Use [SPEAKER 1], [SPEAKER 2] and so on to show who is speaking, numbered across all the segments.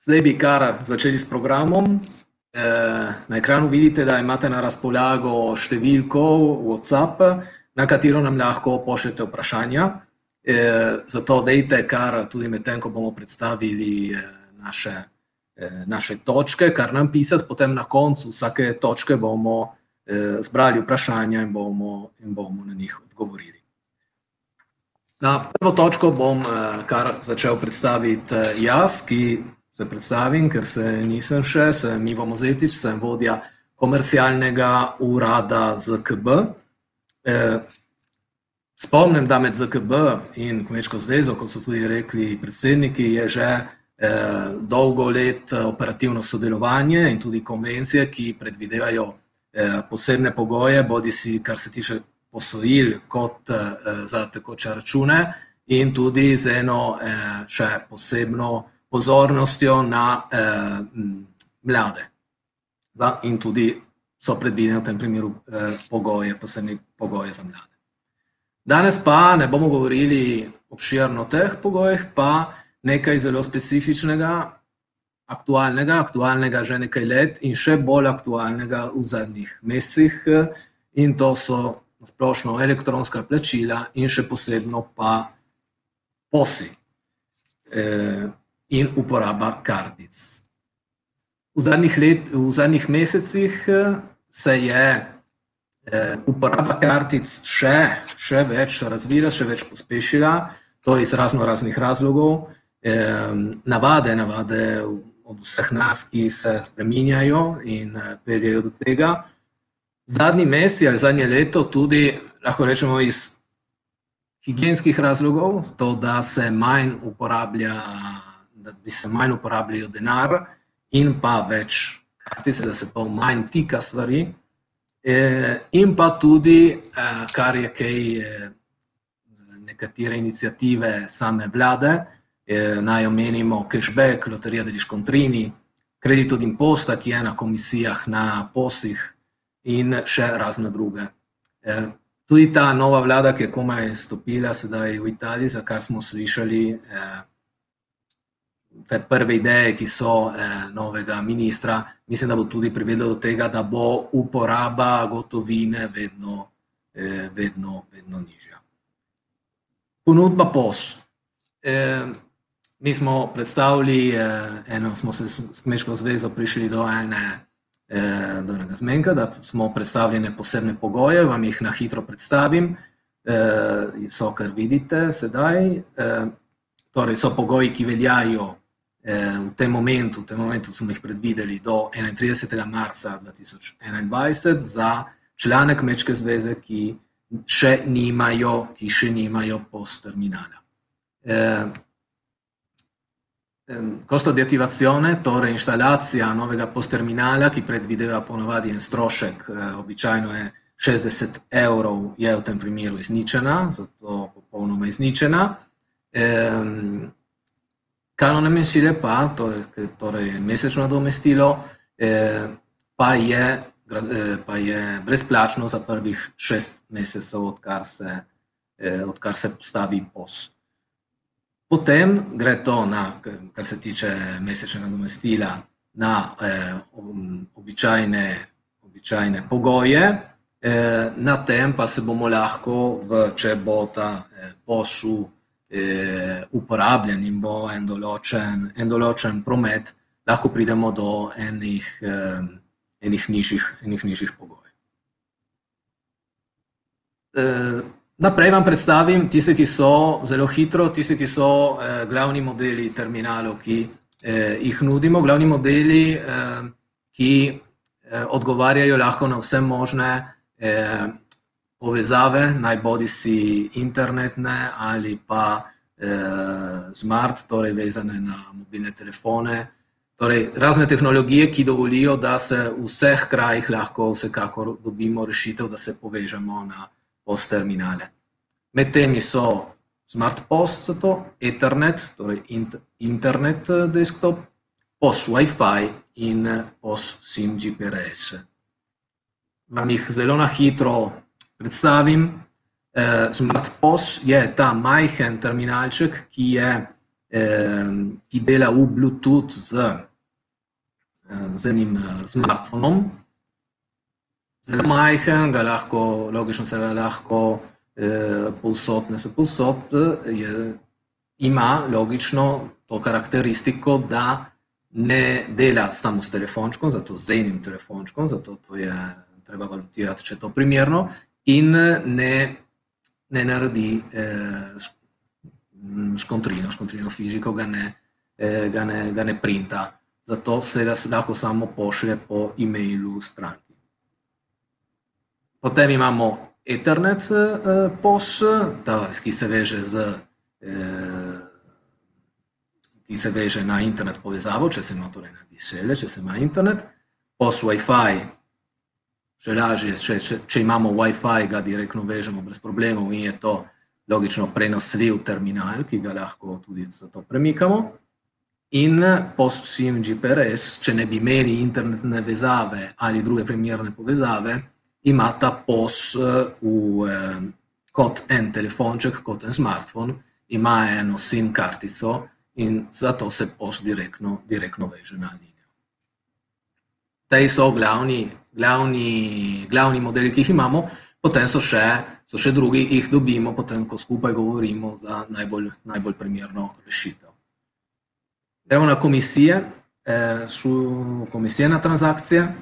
[SPEAKER 1] Zdaj bi kar začeli s programom. Na ekranu vidite, da imate na razpolago številko WhatsApp, na katero nam lahko pošljete vprašanja. Zato dejte kar tudi med tem, ko bomo predstavili naše točke, kar nam pisati, potem na koncu vsake točke bomo zbrali vprašanja in bomo na njih odgovorili. Na prvo točko bom kar začel predstaviti jaz, ki se predstavim, ker se nisem še, sem Ivo Mozetič, sem vodja komercialnega urada ZKB. Spomnim, da med ZKB in Kmečko zvezo, kot so tudi rekli predsedniki, je že dolgo let operativno sodelovanje in tudi konvencije, ki predvidevajo posebne pogoje, bodisi kar se tiče posojil kot za tekoče račune in tudi z eno še posebno pozornostjo na mlade. In tudi so predvidene v tem primeru posebne pogoje za mlade. Danes pa ne bomo govorili obširno o teh pogojih, pa nekaj zelo specifičnega, aktualnega že nekaj let in še bolj aktualnega v zadnjih mesecih, in to so splošno elektronska plačila in še posebno pa POS-i in uporaba kartic. V zadnjih mesecih se je uporaba kartic še več razvila, še več pospešila, to iz raznih razlogov. Navade od vseh nas, ki se spreminjajo in peljejo do tega. Zadnji mesec ali zadnje leto tudi, lahko rečemo, iz higienskih razlogov, to, da se manj uporabljajo denar in pa več kartice, da se pa manj tika stvari. In pa tudi, kar je kaj nekatere iniciative same vlade, naj omenimo cashback, Loteria degli Scontrini, Credito d'imposta, ki je na komisijah, na POS-ih in še razne druge. Tudi ta nova vlada, ki je komaj stopila sedaj v Italiji, za kar smo slišali te prve ideje, ki so novega ministra, mislim, da bo tudi privedlo do tega, da bo uporaba gotovine vedno nižja. Ponudba POS. Mi smo predstavili, smo se s Kmečko zvezo prišli do enega zmenka, da smo predstavljene posebne pogoje, vam jih na hitro predstavim, so, kar vidite sedaj. Torej so pogoji, ki veljajo v tem momentu smo jih predvideli do 31. marca 2021 za člane Kmečke zveze, ki še nimajo POS terminala. Costo di attivazione, torej inštalacija novega POS terminala, ki predvideva ponavadi en strošek, običajno je 60 €, je v tem primeru izničena, zato popolnoma izničena. Canone mensile pa, torej mesečno nadomestilo, pa je brezplačno za prvih 6 mesecev, odkar se postavi POS. Potem gre to, kar se tiče mesečnega nadomestila, na običajne pogoje, na tem pa se bomo lahko, če bo ta POS uporabljen in bo en določen promet, lahko pridemo do enih nižjih pogojev. Naprej vam predstavim tiste, ki so zelo hitro, tiste, ki so glavni modeli terminalov, ki jih nudimo, glavni modeli, ki odgovarjajo lahko na vse možne povezave, naj bodisi internetne ali pa smart, torej vezane na mobilne telefone, torej razne tehnologije, ki dovolijo, da se v vseh krajih lahko vsekakor dobimo rešitev, da se povežemo na POS terminale. Med temi so Smart POS, Ethernet, torej internet desktop, POS Wi-Fi in POS SIM GPRS. Vam jih zelo na hitro predstavim. Smart POS je ta majhen terminalček, ki je ki dela v Bluetooth z enim smartfonom. Zelo majhen, logično se ga lahko povsod, ima logično to karakteristiko, da ne dela samo s telefončkom, zato z enim telefončkom, zato to je treba valutirati, če je to primerno, in ne naredi škontrino fiziko ga ne printa, zato se ga lahko samo pošlje po e-mailu stranki. Potem imamo Ethernet POS, ki se veže na internet povezavo, če se ima torej na DSL, če se ima internet. POS Wi-Fi, še lažje, če imamo Wi-Fi, ga direktno vežemo brez problemov in je to logično prenosljiv terminal, ki ga lahko tudi zato premikamo. In POS SIM GPRS, če ne bi imeli internetne vezave ali druge primerne povezave, ima ta POS kot en telefonček, kot en smartphone, ima eno SIM kartico in zato se POS direktno veže na linijo. Tej so glavni modeli, ki jih imamo, potem so še drugi, jih dobimo potem, ko skupaj govorimo za najbolj primerno rešitev. Gremo na komisije na transakcije,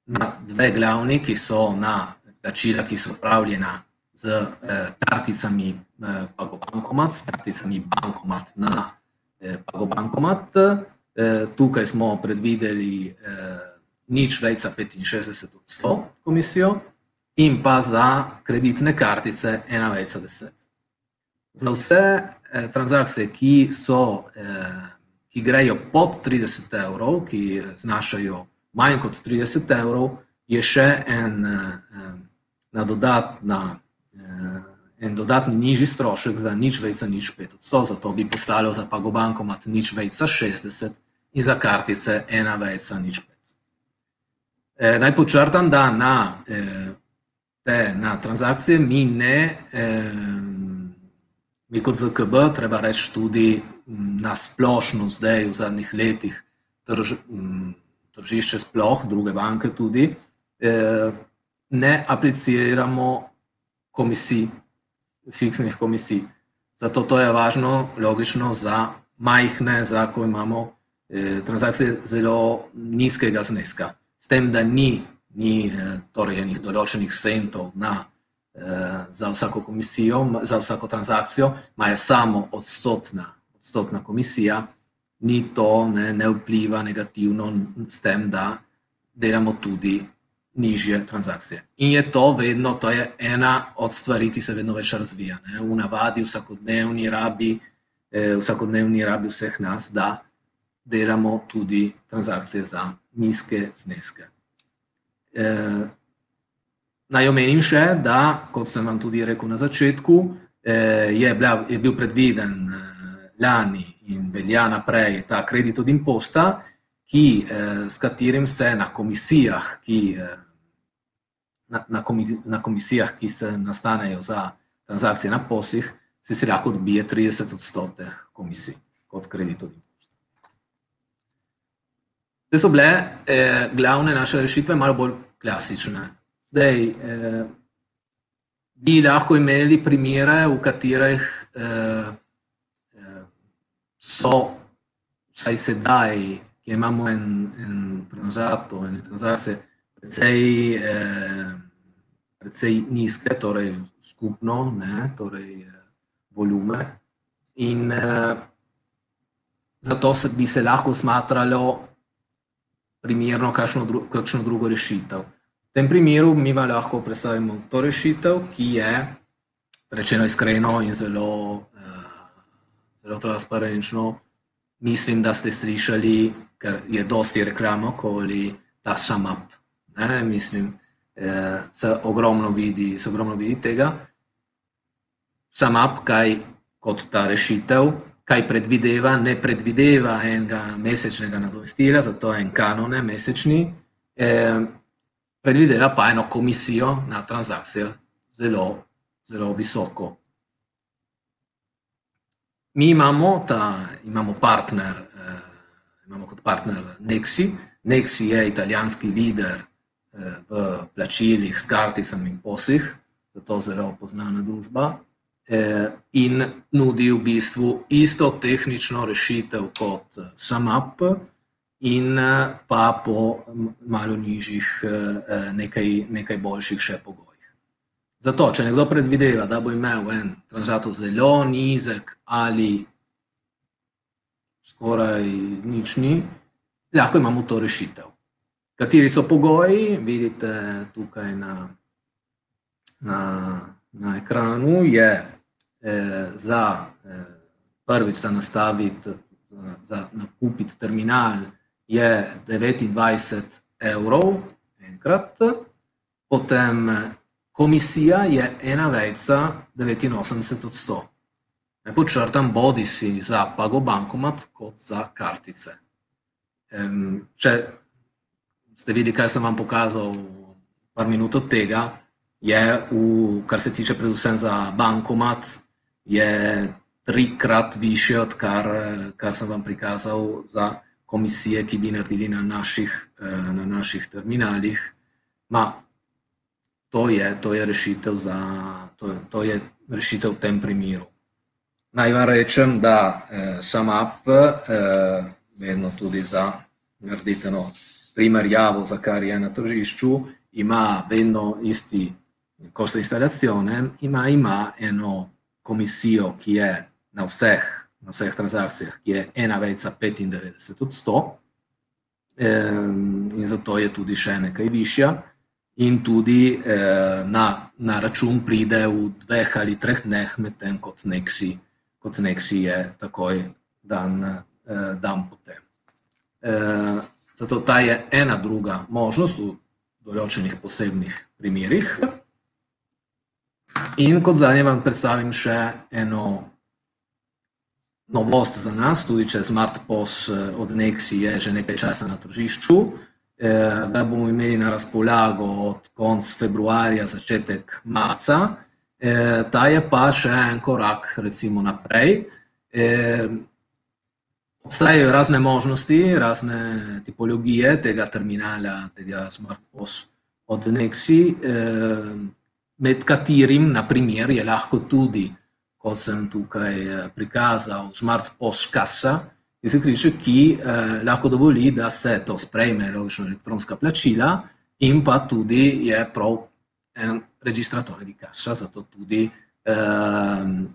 [SPEAKER 1] na dve glavni, ki so na plačila, ki so upravljena z karticami PagoBankomat, s karticami Bankomat na PagoBankomat. Tukaj smo predvideli 0,65% komisijo in pa za kreditne kartice 1,10%. Za vse transakcije, ki grejo pod 30 evrov, ki znašajo manj kot 30 evrov, je še en dodatni nižji strošek za 0,05%, zato bi poslalo za PagoBankomat 0,60% in za kartice 1,05%. Naj podčrtam, da na transakcije mi kot ZKB, treba reči tudi na splošno zdaj v zadnjih letih tržišče sploh, druge banke tudi, ne apliciramo komisij, fiksnih komisij. Zato to je važno, logično, za majhne, ko imamo transakcije zelo nizkega zneska. S tem, da ni torej enih določenih centov za vsako komisijo, za vsako transakcijo, ima je samo odstotna komisija, ni to, ne vpliva negativno s tem, da delamo tudi nižje transakcije. In je to je ena od stvari, ki se vedno več razvija. V navadi vsakodnevni rabi vseh nas, da delamo tudi transakcije za nizke zneske. Naj omenim še, da, kot sem vam tudi rekel na začetku, je bil predviden lani in velja naprej ta kredit od imposta, s katerim se na komisijah, ki se nastanejo za transakcije na POS-ih, si lahko dobije 30% komisij kot kredit od imposta. Te so bile glavne naše rešitve malo bolj klasične. Zdaj, bi lahko imeli primere, v katerih so vsaj sedaj, ki imamo en prenozator, ene transakcije, precej nizke, torej skupno, torej volume. In zato bi se lahko smatralo primerno kakšno drugo rešitev. V tem primeru mi lahko predstavimo to rešitev, ki je, rečeno iskreno in zelo transparenčno, mislim, da ste slišali, ker je dosti reklamo okoli ta SumUp. Mislim, se ogromno vidi tega. SumUp, kaj kot ta rešitev, kaj predvideva, ne predvideva enega mesečnega nadomestila, zato je en kanon mesečni, predvideva pa eno komisijo na transakcijo zelo visoko. Mi imamo partner, imamo kot partner Nexi. Nexi je italijanski lider v plačilih s karticami in POS-ih, zato zelo poznana družba, in nudi v bistvu isto tehnično rešitev kot SumUp in pa po malo nižjih, nekaj boljših še pogojih. Zato, če nekdo predvideva, da bo imel en transaktor zelo nizek ali skoraj nič ni, lahko imamo to rešitev. Kateri so pogoji, vidite tukaj na ekranu, je prvič za nastaviti, za nakupiti terminal je 29 € enkrat, potem komisija je 1,89 %. Ne podčrtam bodisi za pagobankomat kot za kartice. Če ste videli, kaj sem vam pokazal par minut od tega, je, kar se tiče predvsem za bankomat, je 3-krat višje od kar sem vam prikazal za komisije, ki bi naredili na naših terminalih. To je rešitev v tem primeru. Naj vam rečem, da SumUp, vedno tudi za narediti eno primerjavo, za kar je na tržišču, ima vedno isti costo instalazione, ima eno komisijo, ki je na vseh transakcijah, ki je 1,95 %, in zato je tudi še nekaj višja. In tudi na račun pride v 2 ali 3 dneh, medtem kot Nexi je takoj dan potem. Zato ta je ena druga možnost v določenih posebnih primerih. In kot zadnje vam predstavim še eno novost za nas, tudi če Smart POS od Nexi je že nekaj časa na tržišču, da bomo imeli na razpolago od konc februarja, začetek marca. Ta je pa še en korak recimo naprej. Obstajajo razne možnosti, razne tipologije tega terminala, tega Smart POS od Nexi, med katerim, na primer, je lahko tudi, ko sem tukaj prikazal, Smart POS kasa, ki lahko dovoli, da se to sprejme, logično elektronska plačila, in pa tudi je prav en registratore di cassa, zato tudi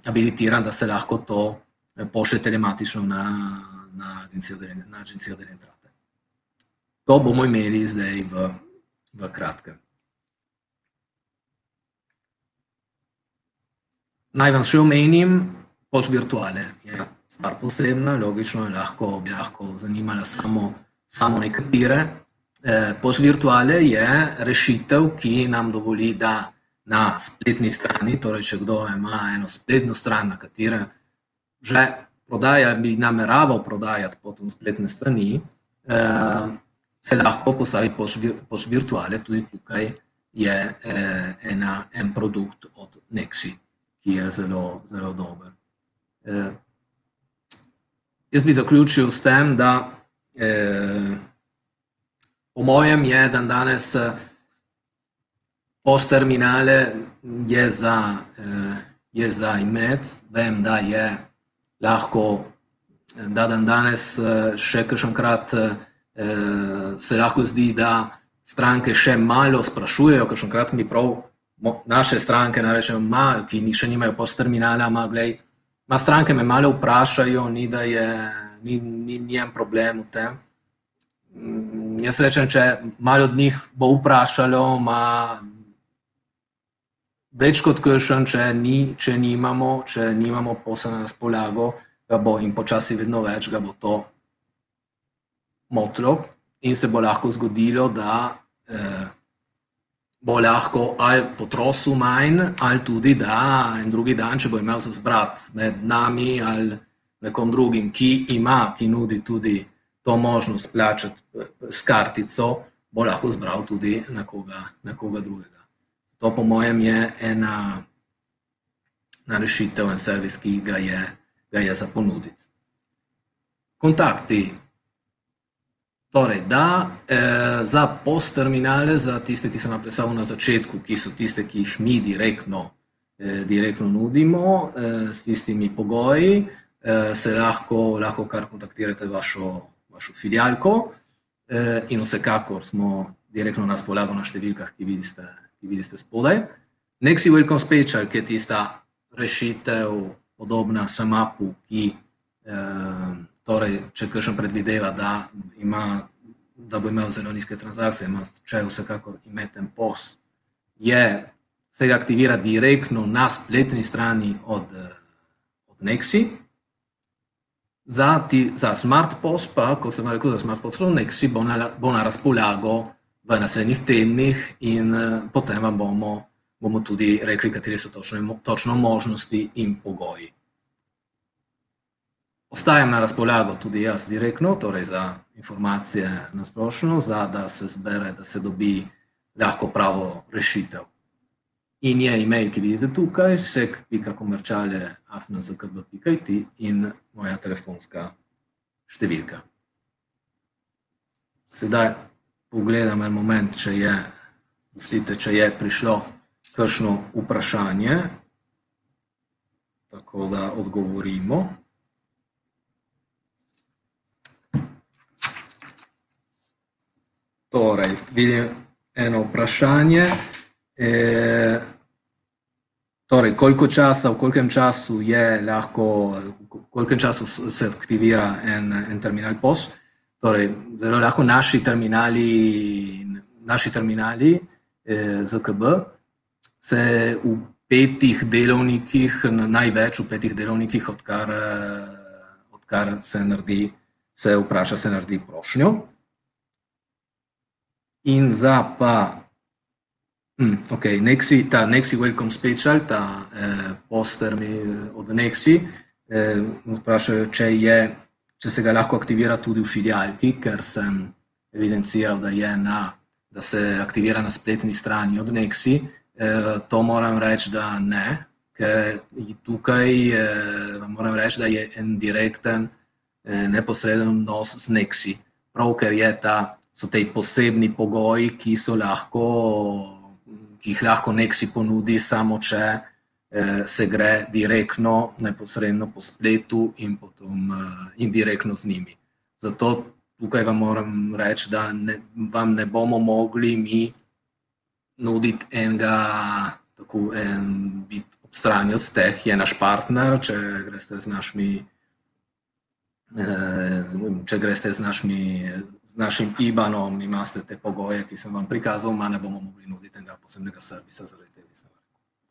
[SPEAKER 1] abilitiran, da se lahko to pošlje telematično na Agencijo delle Entrate. To bomo imeli zdaj v kratkem. Naj vam še omenim, POS virtuale je stvar posebna, logično bi lahko zanimala samo nekatere. POS virtuale je rešitev, ki nam dovoli, da na spletni strani, torej če kdo ima eno spletno stran, na katere že bi nameraval prodajati potom spletne strani, se lahko postavi POS virtuale, tudi tukaj je en produkt od Nexi, ki je zelo, zelo dober. Jaz bi zaključil s tem, da po mojem je dan danes POS terminale je za imeti. Vem, da je lahko, da dan danes še kakšenkrat se lahko zdi, da stranke še malo sprašujejo, kakšenkrat mi prav naše stranke narečejo, ki še nimajo POS terminala, stranke me malo vprašajo, ni en problem v tem. Jaz rečem, če malo od njih bo vprašalo, več kot kakšen, če nimamo POS-a na razpolago, ga bo in počasi vedno več, ga bo to motilo in se bo lahko zgodilo, da bo lahko ali potrosil manj, ali tudi, da en drugi dan, če bo imel za zbrati med nami ali nekom drugim, ki nudi tudi to možnost plačati s kartico, bo lahko zbral tudi nekoga drugega. To po mojem je ena rešitev, en servis, ki ga je ga je za ponuditi. Kontakti. Torej, da, za POS-terminale, za tiste, ki sem vam predstavil na začetku, ki so tiste, ki jih mi direktno nudimo, s tistimi pogoji, se lahko kar kontaktirate vašo filialko in vsekakor smo direktno na razpolago na številkah, ki vidite spodaj. Nexi Welcome Special, ki je tista rešitev podobna SumUpu, ki torej, če kakšen predvideva, da bo imel zelo nizke transakcije, če vsekakor imate POS, se ga aktivira direktno na spletni strani od Nexi. Za Smart POS pa, kot sem rekel, za Smart POS Nexi bo na razpolago v naslednjih tednih in potem vam bomo tudi rekli, kateri so točno možnosti in pogoji. Ostajam na razpolago tudi jaz direktno, torej za informacije na splošno, da se zbere, da se dobi lahko pravo rešitev. In je e-mail, ki vidite tukaj, sek.komerciale@zkb.it in moja telefonska številka. Sedaj pogledam en moment, če je prišlo kakšno vprašanje, tako da odgovorimo. Torej, vidim eno vprašanje. Torej, v kolkem času se aktivira en terminal POS? Torej, zelo lahko naši terminali ZKB se v 5 delovnikih, največ v 5 delovnikih, odkar se vpraša, se naredi prošnjo. In za pa ta Nexi Welcome Special, ta POS-termin od Nexi, vprašajo, če se ga lahko aktivira tudi v filialki, ker sem evidenciral, da se aktivira na spletni strani od Nexi. To moram reči, da ne, ker tukaj vam moram reči, da je en direkten, neposreden odnos z Nexi. Prav, ker so te posebni pogoji, ki jih lahko Nexi ponudi, samo če se gre direktno, neposredno po spletu in potem indirektno z njimi. Zato tukaj vam moram reči, da vam ne bomo mogli mi nuditi biti ob strani od teh, je naš partner, če greste z našim IBAN-om, imate te pogoje, ki sem vam prikazal, ne bomo mogli nuditi enega posebnega servisa zaradi